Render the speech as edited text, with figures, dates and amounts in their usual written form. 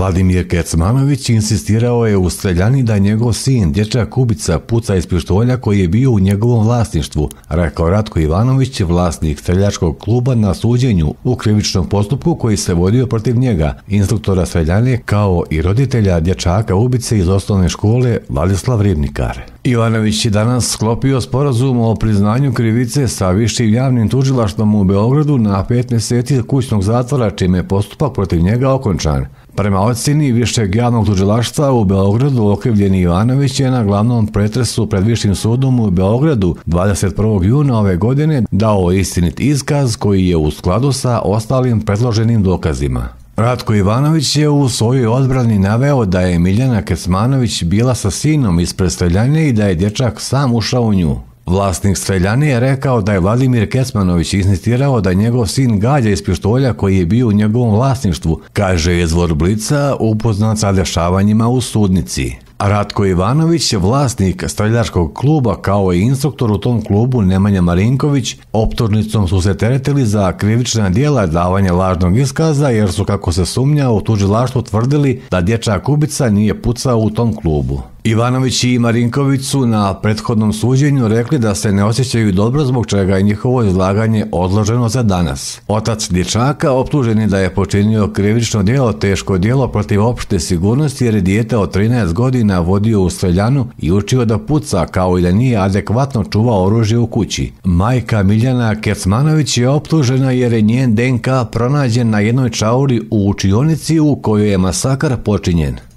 Vladimir Kecmanović insistirao je u streljani da njegov sin, dječak Kubica, puca iz pištolja koji je bio u njegovom vlasništvu, rekao Ratko Ivanović, vlasnik streljačkog kluba na suđenju u krivičnom postupku koji se vodio protiv njega, instruktora streljane, kao i roditelja dječaka ubice iz osnovne škole Vladislav Ribnikar. Ivanović je danas sklopio sporazum o priznanju krivice sa Višim javnim tužilaštvom u Beogradu na 5 mjeseci kućnog zatvora, čime je postupak protiv njega okončan. Prema ocjeni Višeg javnog tužilaštva u Beogradu, okrivljeni Ivanović je na glavnom pretresu pred Višim sudom u Beogradu 21. juna ove godine dao istinit iskaz koji je u skladu sa ostalim predloženim dokazima. Ratko Ivanović je u svojoj odbrani naveo da je Miljana Kecmanović bila sa sinom ispred streljane i da je dječak sam ušao u nju. Vlasnik streljane je rekao da je Vladimir Kecmanović insistirao da njegov sin gađa iz pištolja koji je bio u njegovom vlasništvu, kaže izvor Blica upoznat sa dešavanjima u sudnici. Ratko Ivanović, vlasnik streljačkog kluba kao i instruktor u tom klubu Nemanja Marinković, optužnicom su se teretili za krivična djela davanja lažnog iskaza jer su, kako se sumnja, u tužilaštvu tvrdili da dječak ubica nije pucao u tom klubu. Ivanović i Marinković su na prethodnom suđenju rekli da se ne osjećaju dobro, zbog čega je njihovo izlaganje odloženo za danas. Otac dječaka optužen je da je počinio krivično djelo, teško djelo protiv opšte sigurnosti jer je dijete od 13 godina vodio u streljanu i učio da puca, kao i da nije adekvatno čuvao oružje u kući. Majka Miljana Kecmanović je optužena jer je njen DNK pronađen na jednoj čauri u učionici u kojoj je masakar počinjen.